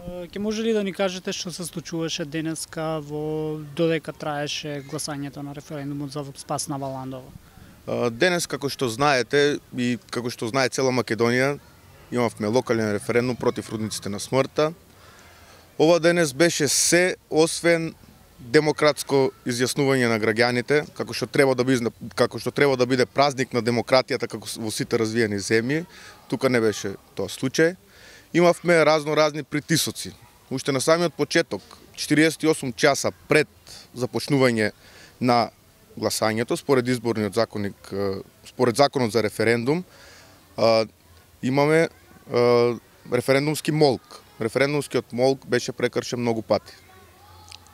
Ќе може ли да ни кажете што се случуваше денеска додека траеше гласањето на референдумот за спас на Валандово? Денес, како што знаете и како што знае цела Македонија, имавме локален референдум против рудниците на смртта. Ова денес беше се освен демократско изјаснување на граѓаните, како што треба да биде празник на демократијата како во сите развиени земји. Тука не беше тоа случај. Имавме разни притисоци. Уште на самиот почеток, 48 часа пред започнување на гласањето, според изборниот законник, според законот за референдум, имаме референдумски молк. Референдумскиот молк беше прекршен многу пати.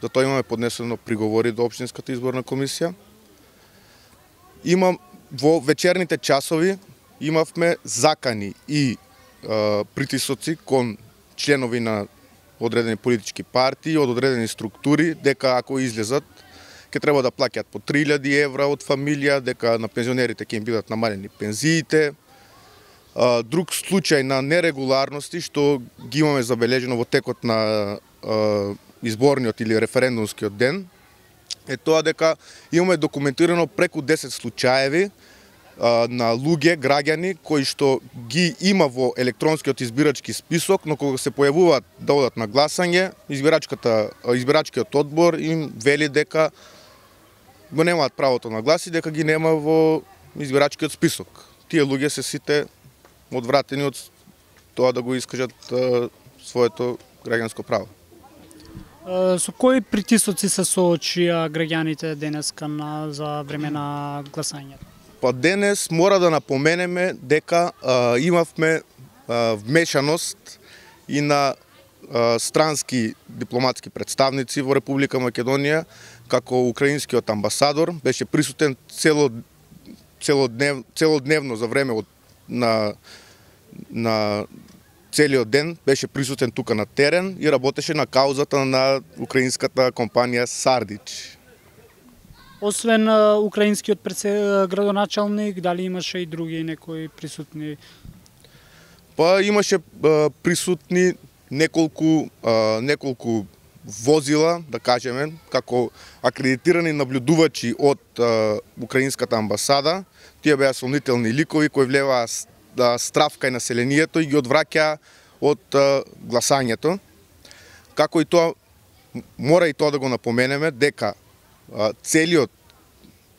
За тоа имаме поднесено приговори до Општинската изборна комисија. Во вечерните часови имавме закани и притисоци кон членови на одредени политички партии, од одредени структури, дека ако излезат, ќе треба да плаќаат по 3000 евра од фамилија, дека на пензионерите ќе им бидат намалени пензиите. Друг случај на нерегуларности што ги имаме забележено во текот на изборниот или референдумскиот ден е тоа дека имаме документирано преку 10 случаеви на луѓе, граѓани кои што ги има во електронскиот избирачки список, но кога се појавуваат да одат на гласање, избирачкиот одбор им вели дека го немаат правото на глас и дека ги нема во избирачкиот список. Тие луѓе се сите одвратени од тоа да го искажат своето граѓанско право. Со кои притисоци се соочија граѓаните денеска за време на гласањето? Па денес мора да напоменеме дека имавме вмешаност и на странски дипломатски представници во Република Македонија, како украинскиот амбасадор беше присутен целодневно за време на целиот ден, беше присутен тука на терен и работеше на каузата на украинската компанија Сардич. Освен украинскиот градоначалник, дали имаше и други некои присутни? Па имаше присутни неколку возила, да кажеме, како акредитирани наблюдувачи од украинската амбасада. Тие беа сомнителни ликови кои влеваа страв кај населението и ги одвраќаа од гласањето. Како и тоа, мора и тоа да го напоменеме, дека целиот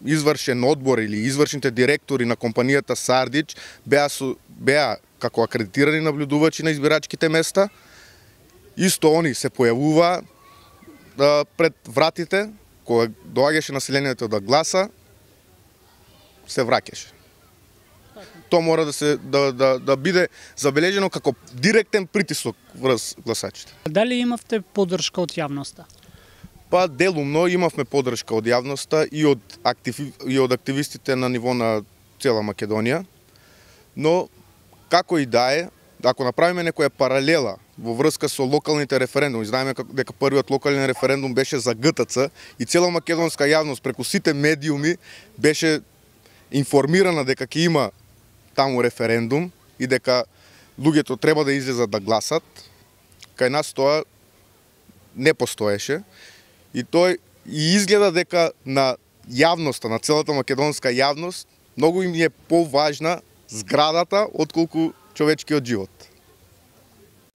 извршен одбор или извршните директори на компанијата Сардич беа како акредитирани наблюдувачи на избирачките места. Исто они се појавуваа пред вратите, кога доаѓаше населението да гласа, се враќаше. Тоа мора да биде забележено како директен притисок врз гласачите. Дали имавте поддршка од јавноста? Па делумно имавме поддршка од јавноста и од активистите на ниво на цела Македонија, но како и да е, ако направиме некоја паралела во врска со локалните референдуми, знаеме дека првиот локален референдум беше за ГТЦ и цела македонска јавност преку сите медиуми беше информирана дека ќе има таму референдум и дека луѓето треба да излезат да гласат. Кај нас тоа не постоеше и тој изгледа дека на јавноста, на целата македонска јавност, многу им е поважна зградата отколку човечкиот живот.